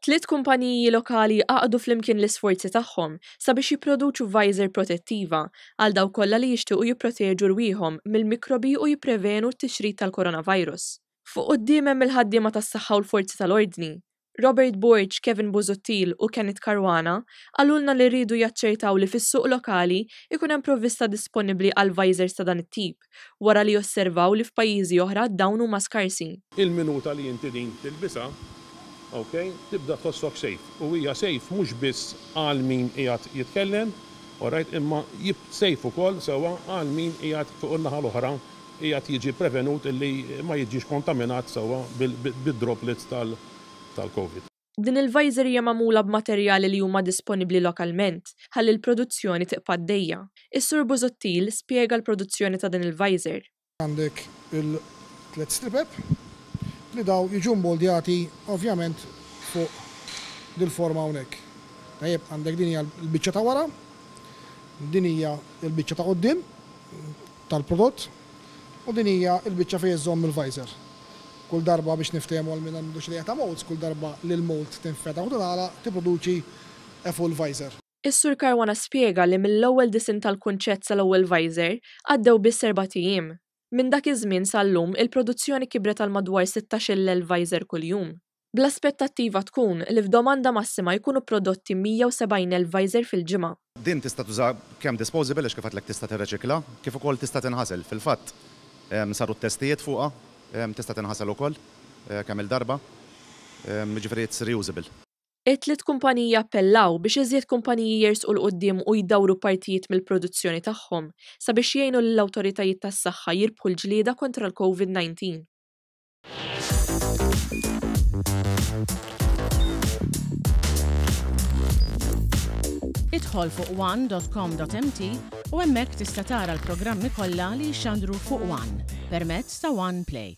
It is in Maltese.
Tliet kumpaniji lokali għaqdu flimkien l-isforzi tagħhom sabiex jipproduċu visor protettiva għal dawk kollha li jixtiequ jipproteġu rwieħhom mill-mikrobi u jipprevenu t-tixrid tal-coronavirus. Fuq quddiem hemm il-ħaddiema tas-saħħa u l-forzi tal-ordni. Robert Borg, Kevin Busuttil u Kenneth Caruana qalulna li riedu jaċċertaw li fis-suq lokali jkun hemm provvista disponibbli għal visors ta' dan it-tip, wara li osservaw li f'pajjiżi oħra dawn huma skarsi. Il-minuta li inti din tilbisha, ok, tibda tħossok safe. U hija safe mhux biss għal min qiegħed jitkellem, alright, imma safe ukoll sewwa għal min qiegħed fuq in-naħa l-oħra qiegħed jiġi prevenut illi ma jiġix kontaminat sewwa bid-droplets tal-Covid. Din il-visor hija magħmula b'materjali li huma disponibbli lokalment ħalli l-produzzjoni tibqa' għaddejja. Is-Sur Busuttil spjega l-produzzjoni ta' din il-visor. Għandek il-tliet stripep li daw jiġu mmoldjati ovvjament fuq dil-forma hawnhekk. Tajjeb, għandek din hija l-biċċa ta' wara, din hija l-biċċa ta' quddiem tal-prodott u din hija l-biċċa fejn iżżomm il-visor. Kull darba biex niftehmu għal min għandu xi idea ta' molds, kull darba li l-mold tinfetaħ u tingħalaq tipproduċi a full visor. Is-Sur Caruana spjega li mill-ewwel disinn tal-kunċett sal-ewwel visor għaddew biss erbat ijiem. Minn dak iż-żmien sal-lum il-produzzjoni kibret għal madwar 16,000 visor kuljum. Bl-aspettattiva tkun li f'domanda massima jkunu prodotti 170,000 visor fil-ġimgħa. Din tista' tuża kemm disposable għax kif għedtlek tista' tirreċikla, kif ukoll tista' tinħasel. Fil-fatt saru t-testijiet fuqha, tista' tinħasel ukoll kemm-il darba, jiġifieri it's reusable. It-tliet kumpaniji appellaw biex iżjed kumpaniji jersqu 'l quddiem u jdawru partijiet mill-produzzjoni tagħhom sabiex jgħinu lill-awtoritajiet tas-saħħa jirbħu l-ġlieda kontra l-Covid-19. Idħol fuq one.com.mt u hemmhekk tista' tara l-programmi kollha li jixxandru fuq One permezz ta' One Play.